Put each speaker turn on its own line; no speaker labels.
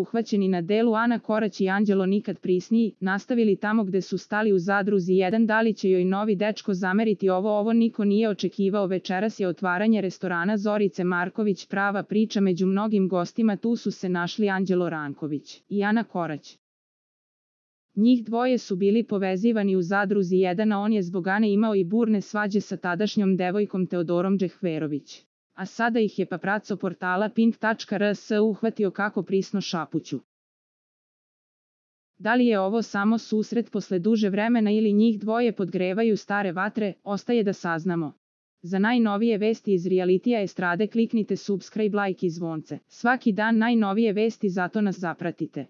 uhvaćeni na delu Ana Korać i Anđelo nikad prisniji, nastavili tamo gde su stali u Zadruzi 1. Da li će joj novi dečko zameriti ovo niko nije očekivao. Večeras je otvaranje restorana Zorice Marković, prava priča među mnogim gostima. Tu su se našli Anđelo Ranković i Ana Korać. Njih dvoje su bili povezivani u Zadruzi 1, a on je zbog Ane imao i burne svađe sa tadašnjom devojkom Teodorom Džehverović. A sada ih je papraco portala Pink.rs uhvatio kako prisno šapuću. Da li je ovo samo susret posle duže vremena ili njih dvoje podgrevaju stare vatre, ostaje da saznamo. Za najnovije vesti iz realitija estrade kliknite subscribe, like i zvonce. Svaki dan najnovije vesti, zato nas zapratite.